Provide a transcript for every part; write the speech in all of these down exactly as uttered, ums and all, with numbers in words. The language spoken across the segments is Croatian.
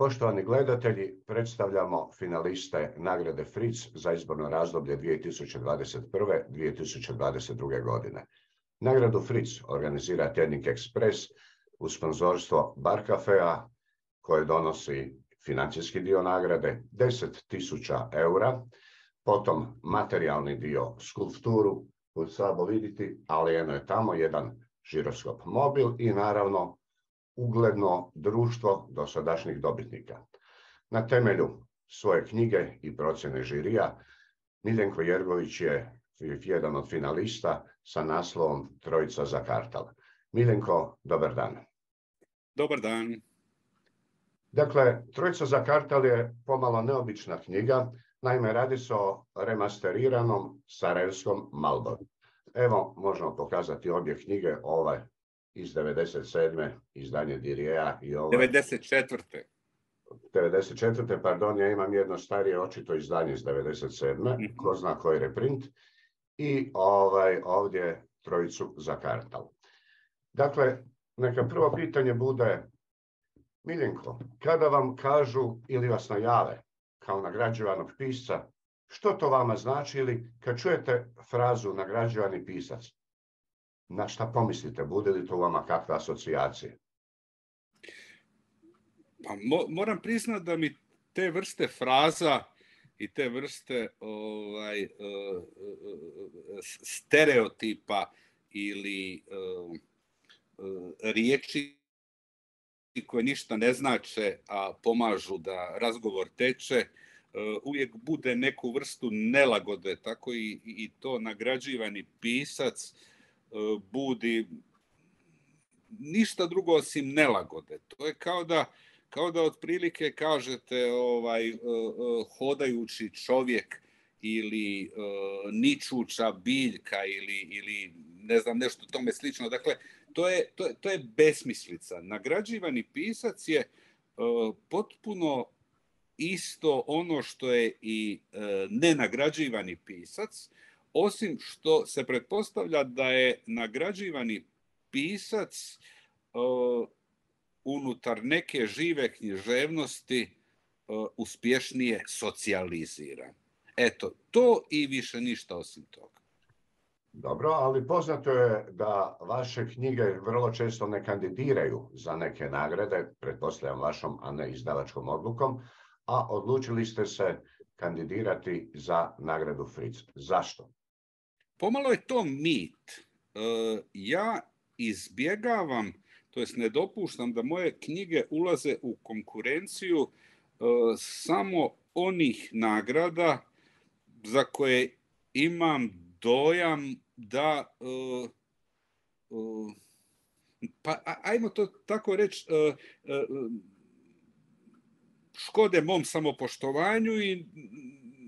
Poštovani gledatelji, predstavljamo finaliste nagrade Fritz za izborno razdoblje dvije tisuće dvadeset prve do dvije tisuće dvadeset druge. godine. Nagradu Fritz organizira Tjednik Ekspres uz sponzorstvo Bar Cafea koje donosi financijski dio nagrade deset tisuća eura, potom materijalni dio skulpturu koju slabo vidite, ali eno je tamo jedan žiroskop mobil i naravno ugledno društvo dosadašnjih dobitnika. Na temelju svoje knjige i procjene žirija, Miljenko Jergović je jedan od finalista sa naslovom Trojica za kartal. Miljenko, dobar dan. Dobar dan. Dakle, Trojica za kartal je pomalo neobična knjiga, naime radi se o remasteriranom sarajevskom Marlboru. Evo, možemo pokazati obje knjige, ove iz devedeset sedme izdanje Dirijeja i ovo... devedeset četvrte. devedeset četvrte. pardon, ja imam jedno starije očito izdanje iz devedeset sedme. Mm-hmm. Ko zna koji reprint. I ovaj, ovdje Trojicu za kartal. Dakle, neka prvo pitanje bude, Miljenko, kada vam kažu ili vas najave kao nagrađivanog pisca, što to vama znači ili kad čujete frazu nagrađivani pisac, na šta pomislite? Bude li to vama kakve asocijacije? Pa, mo, moram priznati da mi te vrste fraza i te vrste ovaj, uh, uh, stereotipa ili uh, uh, riječi koje ništa ne znače, a pomažu da razgovor teče, uh, uvijek bude neku vrstu nelagode, tako i, i to nagrađivani pisac budi ništa drugo osim nelagode. To je kao da, kao da otprilike kažete ovaj, hodajući čovjek ili ničuća biljka ili, ili ne znam nešto tome slično. Dakle, to je, to je, to je besmislica. Nagrađivani pisac je potpuno isto ono što je i nenagrađivani pisac, osim što se pretpostavlja da je nagrađivani pisac uh, unutar neke žive književnosti uh, uspješnije socijaliziran. Eto, to i više ništa osim toga. Dobro, ali poznato je da vaše knjige vrlo često ne kandidiraju za neke nagrade, pretpostavljam vašom, a ne izdavačkom odlukom, a odlučili ste se kandidirati za nagradu Fritz. Zašto? Pomalo je to mit. Ja izbjegavam, to jest ne dopuštam da moje knjige ulaze u konkurenciju samo onih nagrada za koje imam dojam da, pa ajmo to tako reći, škode mom samopoštovanju i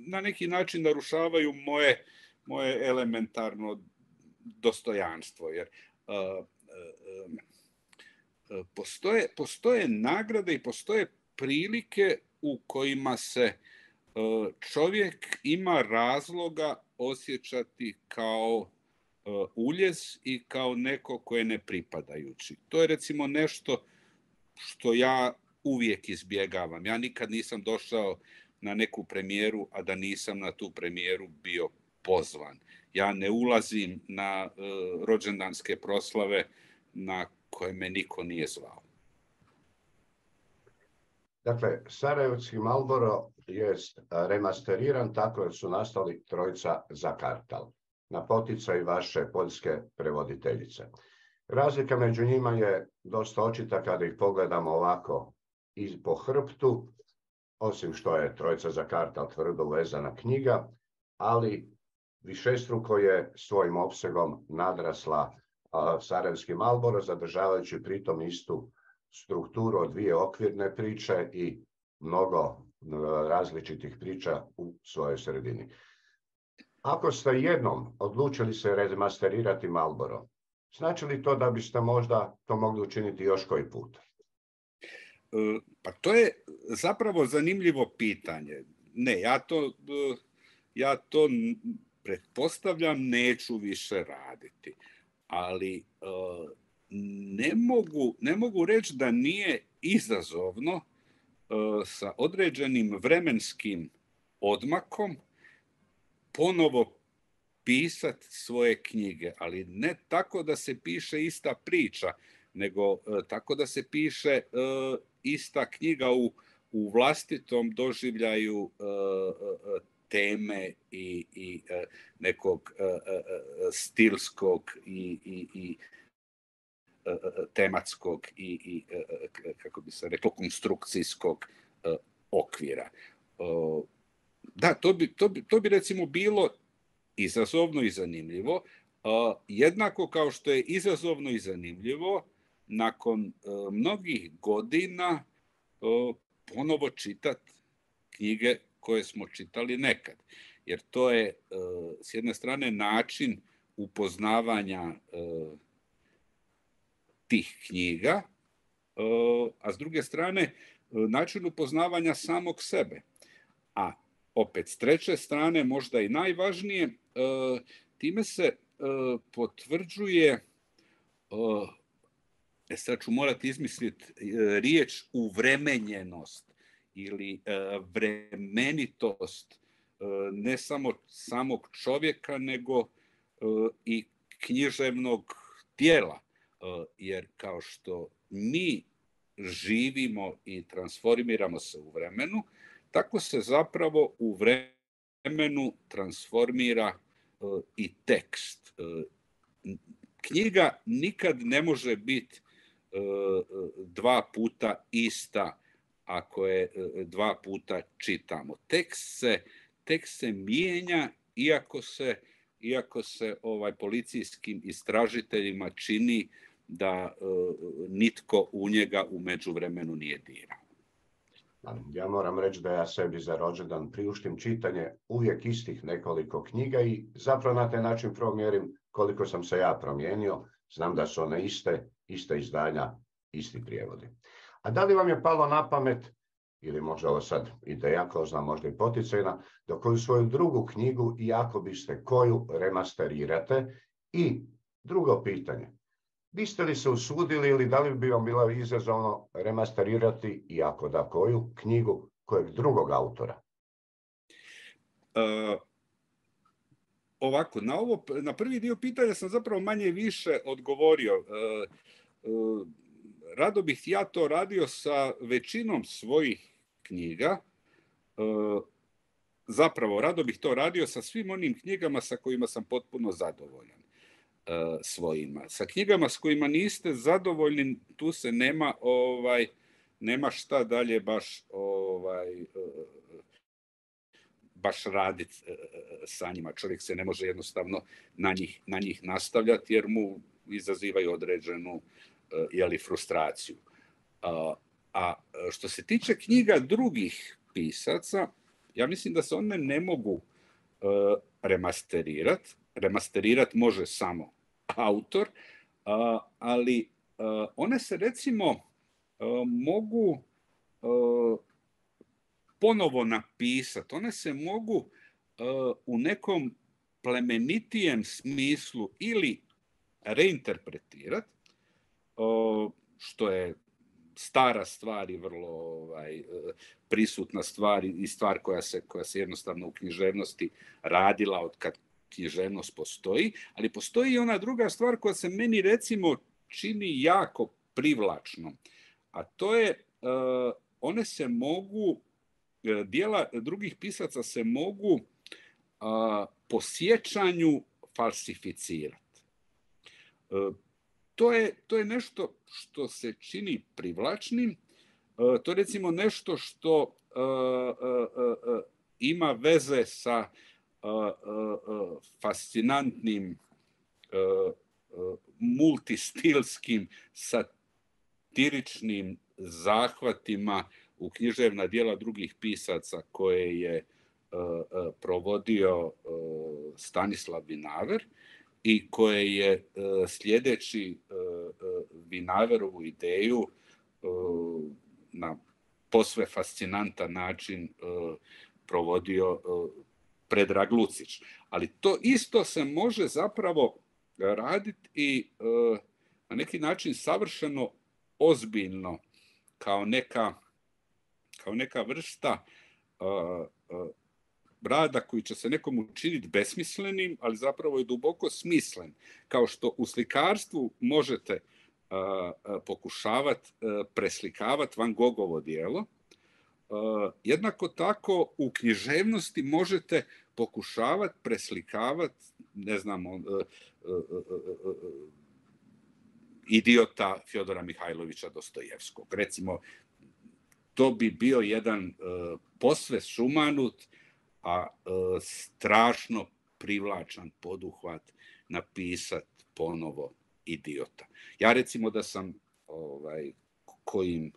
na neki način narušavaju moje moje elementarno dostojanstvo, jer uh, uh, uh, postoje, postoje nagrade i postoje prilike u kojima se uh, čovjek ima razloga osjećati kao uh, uljez i kao neko ko je nepripadajući. To je recimo nešto što ja uvijek izbjegavam. Ja nikad nisam došao na neku premijeru, a da nisam na tu premijeru bio pozvan. Ja ne ulazim na uh, rođendanske proslave na koje me niko nije zvao. Dakle, sarajevski Marlboro je remasteriran tako da su nastali Trojica za kartal, na poticaj vaše poljske prevoditeljice. Razlika među njima je dosta očita kada ih pogledamo ovako i po hrbtu, osim što je Trojica za kartal tvrdo vezana knjiga, ali višestruko je svojim opsegom nadrasla uh, sarajevski Marlboro, zadržavajući pritom istu strukturu od dvije okvirne priče i mnogo uh, različitih priča u svojoj sredini. Ako ste jednom odlučili se remasterirati Marlboro, znači li to da biste možda to mogli učiniti još koji put? Pa to je zapravo zanimljivo pitanje. Ne, ja to, ja to pretpostavljam neću više raditi. Ali ne mogu, ne mogu reći da nije izazovno sa određenim vremenskim odmakom ponovo pisati svoje knjige, ali ne tako da se piše ista priča, nego tako da se piše ista knjiga u, u vlastitom doživljaju teme i, i nekog stilskog i, i, i tematskog i, i kako bi se reklo konstrukcijskog okvira. Da, to bi, to bi, to bi recimo bilo izazovno i zanimljivo, jednako kao što je izazovno i zanimljivo nakon mnogih godina ponovo čitati knjige koje smo čitali nekad. Jer to je s jedne strane način upoznavanja tih knjiga, a s druge strane način upoznavanja samog sebe. A opet s treće strane, možda i najvažnije, time se potvrđuje, sad ću morati izmisliti riječ uvremenjenost ili vremenitost ne samo samog čovjeka, nego i književnog tijela. Jer kao što mi živimo i transformiramo se u vremenu, tako se zapravo u vremenu transformira i tekst. Knjiga nikad ne može biti dva puta ista ako je dva puta čitamo. Tekst se, tekst se mijenja iako se, iako se ovaj, policijskim istražiteljima čini da nitko u njega u međuvremenu nije dirao. Ja moram reći da ja sebi za rođendan priuštim čitanje uvijek istih nekoliko knjiga i zapravo na taj način promjerim koliko sam se ja promijenio. Znam da su one iste, iste izdanja, isti prijevodi. A da li vam je palo na pamet, ili možda ovo sad ideja, ko zna, možda i poticajna, da koju svoju drugu knjigu i ako biste koju remasterirate? I drugo pitanje, biste li se usudili ili da li bi vam bilo izazovno remasterirati i ako da koju knjigu kojeg drugog autora? Uh, ovako, na, ovo, na prvi dio pitanja sam zapravo manje više odgovorio. Uh, uh, rado bih ja to radio sa većinom svojih knjiga. Uh, zapravo, rado bih to radio sa svim onim knjigama sa kojima sam potpuno zadovoljan. Svojima. Sa knjigama s kojima niste zadovoljni, tu se nema ovaj nema šta dalje baš ovaj baš raditi sa njima. Čovjek se ne može jednostavno na njih, na njih nastavljati jer mu izazivaju određenu jeli, frustraciju. A, a što se tiče knjiga drugih pisaca, ja mislim da se one ne mogu remasterirati. Remasterirati može samo autor, ali one se recimo mogu ponovo napisati, one se mogu u nekom plemenitijem smislu ili reinterpretirati, što je stara stvar i vrlo ovaj, prisutna stvar i stvar koja se, koja se jednostavno u književnosti radila od kad književnost postoji, ali postoji i ona druga stvar koja se meni recimo čini jako privlačnom, a to je uh, one se mogu, dijela drugih pisaca se mogu uh, po sjećanju falsificirati. Uh, to je, to je nešto što se čini privlačnim, uh, to je recimo nešto što uh, uh, uh, ima veze sa Uh, uh, uh, fascinantnim uh, uh, multistilskim satiričnim zahvatima u književna djela drugih pisaca koje je uh, uh, provodio uh, Stanislav Vinaver i koje je uh, sljedeći uh, uh, Vinaverovu ideju uh, na posve fascinantan način uh, provodio uh, Predrag Lucić. Ali to isto se može zapravo raditi i uh, na neki način savršeno ozbiljno kao neka, kao neka vrsta uh, uh, rada koji će se nekom učiniti besmislenim, ali zapravo je duboko smislen. Kao što u slikarstvu možete uh, uh, pokušavati uh, preslikavati Van Gogovo djelo, uh, jednako tako u književnosti možete pokušavati preslikavati, ne znam, uh, uh, uh, uh, Idiota Fjodora Mihajlovića Dostojevskog. Recimo, to bi bio jedan uh, posve sumanut, a uh, strašno privlačan poduhvat napisat ponovo Idiota. Ja recimo da sam ovaj, kojim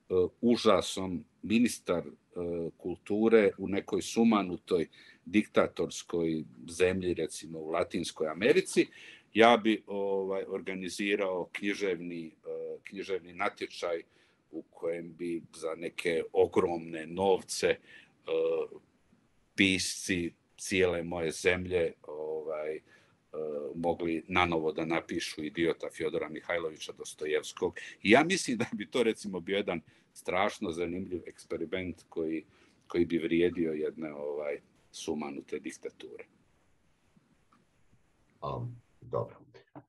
uh, užasom ministar uh, kulture u nekoj sumanutoj diktatorskoj zemlji, recimo u Latinskoj Americi, ja bi ovaj, organizirao književni, uh, književni natječaj u kojem bi za neke ogromne novce uh, pisci cijele moje zemlje ovaj, uh, mogli nanovo da napišu Idiota Fjodora Mihajlovića Dostojevskog. I ja mislim da bi to recimo bio jedan strašno zanimljiv eksperiment koji, koji bi vrijedio jedne ovaj, sumanute diktature. Um, dobro. E,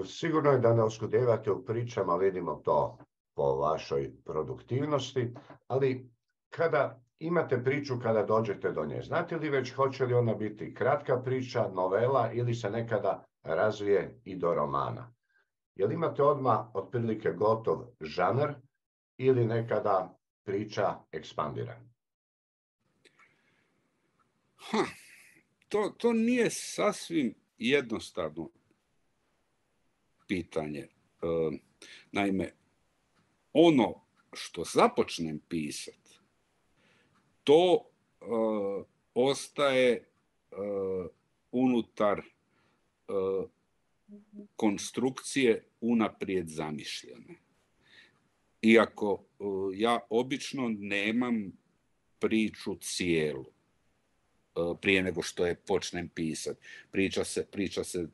sigurno je da ne oskudevate u pričama, vidimo to po vašoj produktivnosti, ali kada imate priču, kada dođete do nje, znate li već hoće li ona biti kratka priča, novela ili se nekada razvije i do romana? Jel imate odmah otprilike gotov žanr ili nekada priča ekspandira? Ha, to, to nije sasvim jednostavno pitanje. E, naime, ono što započnem pisat, to uh, ostaje uh, unutar uh, konstrukcije unaprijed zamišljene. Iako uh, ja obično nemam priču cijelu uh, prije nego što je počnem pisat. Priča se, priča se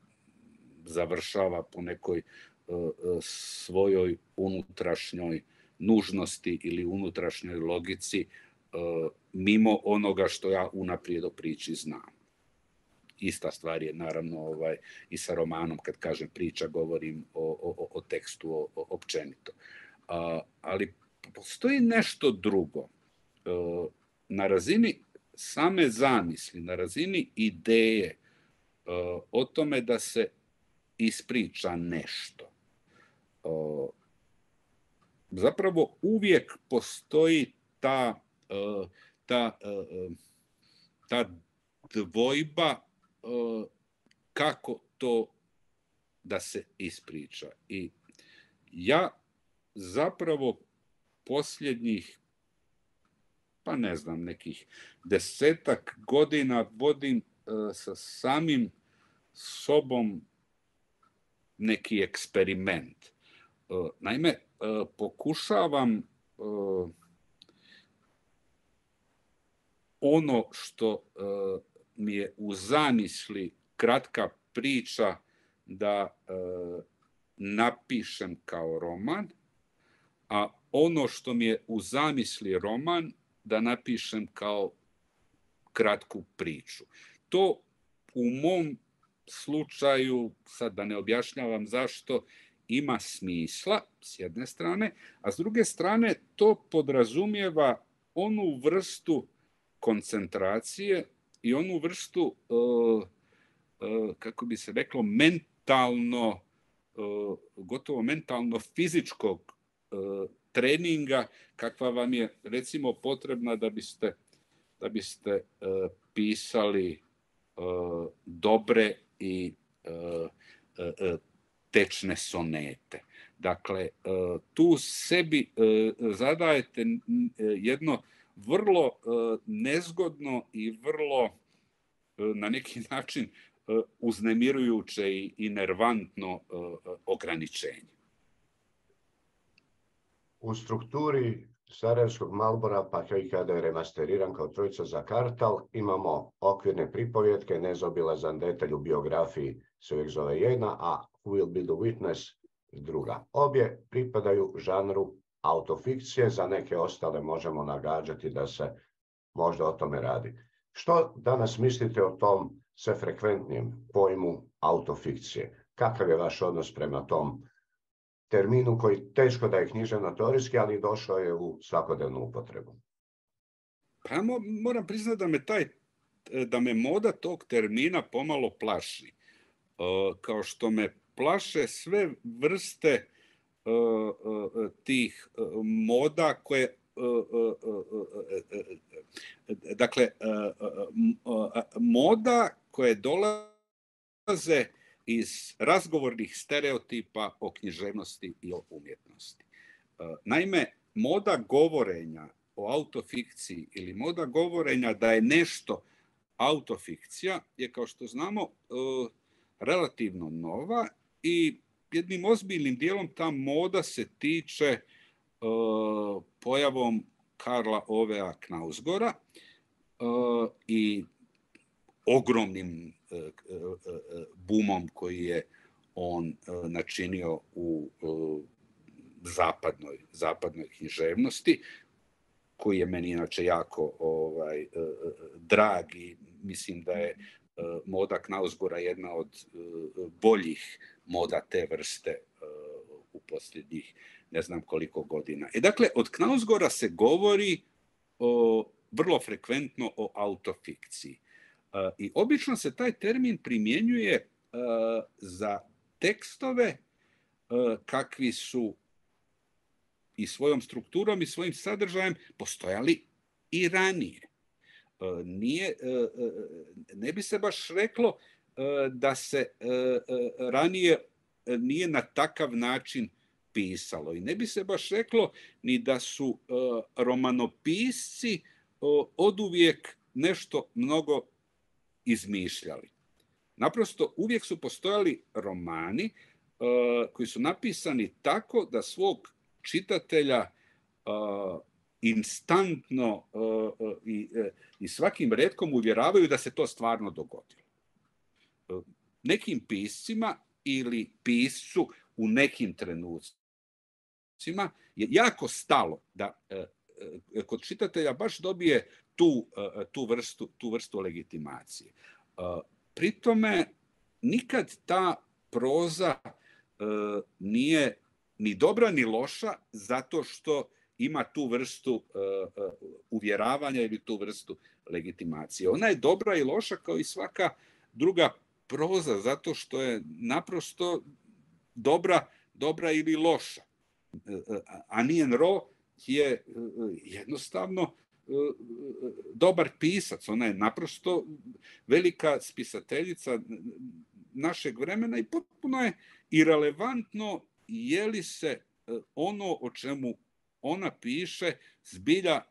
završava po nekoj uh, uh, svojoj unutrašnjoj nužnosti ili unutrašnjoj logici, Uh, mimo onoga što ja unaprijed o priči znam. Ista stvar je naravno ovaj, i sa romanom, kad kažem priča, govorim o, o, o tekstu o, o, općenito. Uh, ali postoji nešto drugo. Uh, na razini same zamisli, na razini ideje uh, o tome da se ispriča nešto. Uh, zapravo uvijek postoji ta Uh, ta, uh, ta dvojba uh, kako to da se ispriča. I ja zapravo posljednjih, pa ne znam, nekih desetak godina vodim uh, sa samim sobom neki eksperiment. Uh, naime, uh, pokušavam uh, ono što uh, mi je u zamisli kratka priča da uh, napišem kao roman, a ono što mi je u zamisli roman da napišem kao kratku priču. To u mom slučaju, sad da ne objašnjavam zašto, ima smisla s jedne strane, a s druge strane to podrazumijeva onu vrstu koncentracije i onu vrstu, uh, uh, kako bi se reklo, mentalno, uh, gotovo mentalno fizičkog uh, treninga, kakva vam je recimo potrebna da biste, da biste uh, pisali uh, dobre i uh, uh, tečne sonete. Dakle, uh, tu sebi uh, zadajete jedno vrlo uh, nezgodno i vrlo uh, na neki način uh, uznemirujuće i, i nervantno uh, ograničenje. U strukturi Sarajevskog Malbora, pa i kada je remasteriran kao Trojica za Kartal, imamo okvirne pripovjetke, nezaobilazan detalj u biografiji se uvijek zove jedna, a Who Will Be the Witness druga. Obje pripadaju žanru autofikcije, za neke ostale možemo nagađati da se možda o tome radi. Što danas mislite o tom sve frekventnijem pojmu autofikcije? Kakav je vaš odnos prema tom terminu koji teško da je književno-teorijski, ali došao je u svakodnevnu upotrebu? Pa ja moram priznati da me taj, da me moda tog termina pomalo plaši. Kao što me plaše sve vrste tih moda koje dakle moda koje dolaze iz razgovornih stereotipa o književnosti i o umjetnosti. Naime, moda govorenja o autofikciji ili moda govorenja da je nešto autofikcija je, kao što znamo, relativno nova i jednim ozbiljnim dijelom ta moda se tiče pojavom Karla Ovea Knausgora i ogromnim bumom koji je on načinio u zapadnoj, zapadnoj književnosti, koji je meni inače jako ovaj, drag i mislim da je moda Knausgora jedna od boljih moda te vrste u posljednjih ne znam koliko godina. E dakle, od Knausgora se govori o, vrlo frekventno o autofikciji. I obično se taj termin primjenjuje za tekstove kakvi su i svojom strukturom i svojim sadržajem postojali i ranije. Nije, ne bi se baš reklo da se ranije nije na takav način pisalo i ne bi se baš reklo ni da su romanopisci oduvijek nešto mnogo izmišljali. Naprosto uvijek su postojali romani koji su napisani tako da svog čitatelja instantno i, i svakim retkom uvjeravaju da se to stvarno dogodilo. Nekim piscima ili piscu u nekim trenucima je jako stalo da kod čitatelja baš dobije tu, tu, vrstu, tu vrstu legitimacije. Pri tome nikad ta proza nije ni dobra ni loša zato što ima tu vrstu uh, uh, uvjeravanja ili tu vrstu legitimacije. Ona je dobra i loša kao i svaka druga proza zato što je naprosto dobra, dobra ili loša. Uh, uh, Annie Ernaux je uh, jednostavno uh, dobar pisac. Ona je naprosto velika spisateljica našeg vremena i potpuno je irelevantno je li se ono o čemu ona piše zbilja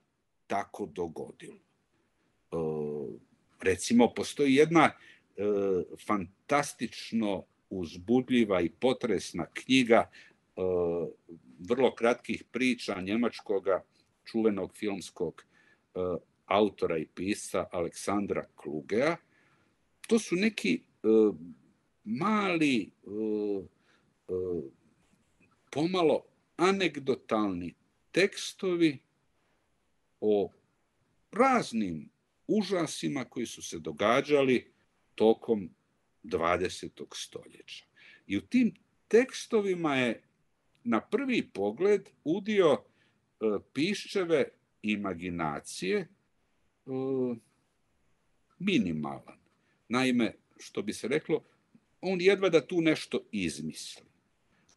tako dogodilo. E, recimo, postoji jedna e, fantastično uzbudljiva i potresna knjiga e, vrlo kratkih priča njemačkoga čuvenog filmskog e, autora i pisca Aleksandra Klugea. To su neki e, mali e, e, pomalo anegdotalni tekstovi o raznim užasima koji su se događali tokom dvadesetog stoljeća. I u tim tekstovima je na prvi pogled udio e, piščeve imaginacije e, minimalan. Naime, što bi se reklo, on jedva da tu nešto izmisli.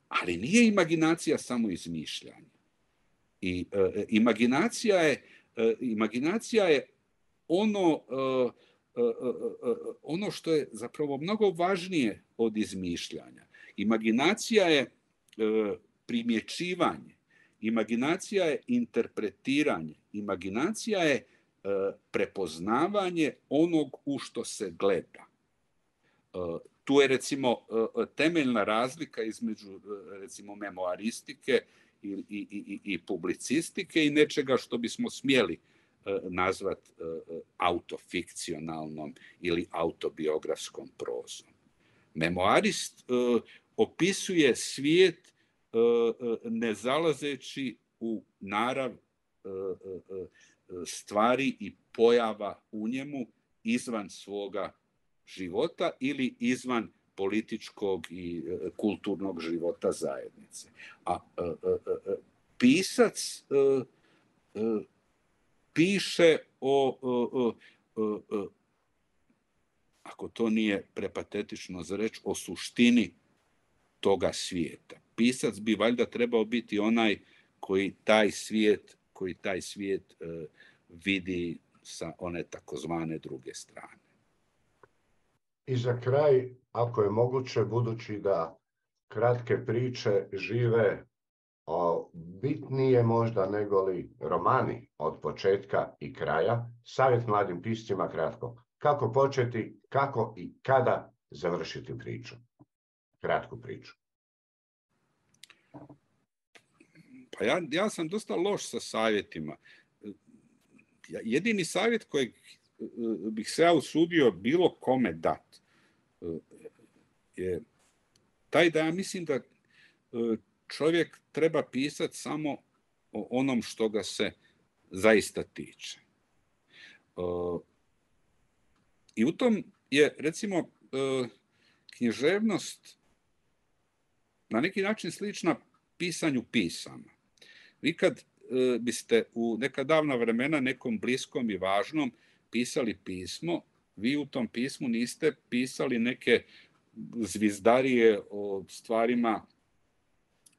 Ali nije imaginacija samo izmišljanje. I e, imaginacija je, e, imaginacija je ono, e, e, e, ono što je zapravo mnogo važnije od izmišljanja. Imaginacija je e, primjećivanje, imaginacija je interpretiranje, imaginacija je e, prepoznavanje onog u što se gleda. E, Tu je, recimo, temeljna razlika između, recimo, memoaristike i, i, i, i publicistike i nečega što bismo smjeli nazvati autofikcionalnom ili autobiografskom prozom. Memoarist opisuje svijet ne zalazeći u narav stvari i pojava u njemu izvan svoga života ili izvan političkog i kulturnog života zajednice. A pisac piše o, o, o, o, ako to nije prepatetično za reč, o suštini toga svijeta. Pisac bi valjda trebao biti onaj koji taj svijet, koji taj svijet uh, vidi sa one takozvane druge strane. I za kraj, ako je moguće, budući da kratke priče žive o, bitnije možda nego li romani od početka i kraja, savjet mladim piscima kratko. Kako početi, kako i kada završiti priču? Kratku priču. Pa ja, ja sam dosta loš sa savjetima. Jedini savjet kojeg bih se ja usudio bilo kome dat je taj da ja mislim da čovjek treba pisati samo o onom što ga se zaista tiče. I u tom je, recimo, književnost na neki način slična pisanju pisama. Vi kad biste u neka davna vremena nekom bliskom i važnom pisali pismo, vi u tom pismu niste pisali neke zvizdarije o stvarima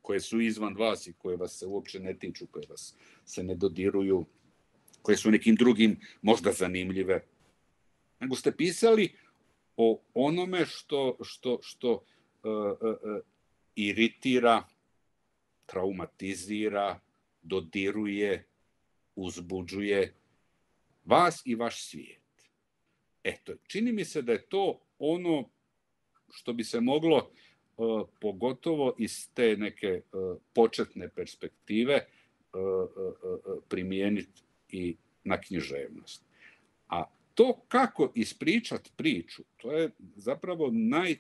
koje su izvan vas i koje vas se uopće ne tiču, koje vas se ne dodiruju, koje su nekim drugim možda zanimljive. Nego ste pisali o onome što, što, što uh, uh, iritira, traumatizira, dodiruje, uzbuđuje vas i vaš svijet. Eto, čini mi se da je to ono što bi se moglo uh, pogotovo iz te neke uh, početne perspektive uh, uh, primijeniti i na književnost. A to kako ispričati priču, to je zapravo najteže,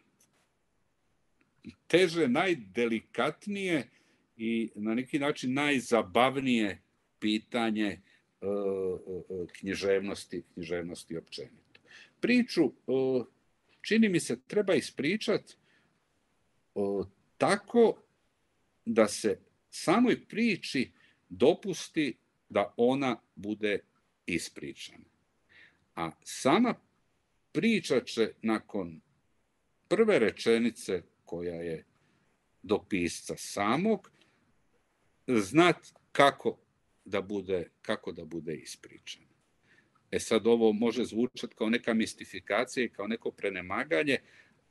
najdelikatnije i na neki način najzabavnije pitanje uh, uh, književnosti, književnosti općenito. Priču, uh, čini mi se, treba ispričati uh, tako da se samoj priči dopusti da ona bude ispričana. A sama priča će nakon prve rečenice koja je do pisca samog znat kako da bude, kako da bude ispričana. E sad ovo može zvučati kao neka mistifikacija i kao neko prenemaganje,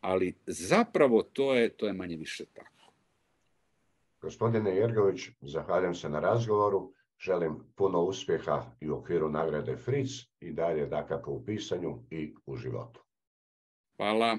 ali zapravo to je, to je manje više tako. Gospodine Jergović, zahvaljujem se na razgovoru. Želim puno uspjeha i u okviru nagrade Fritz i dalje dakako u pisanju i u životu. Hvala.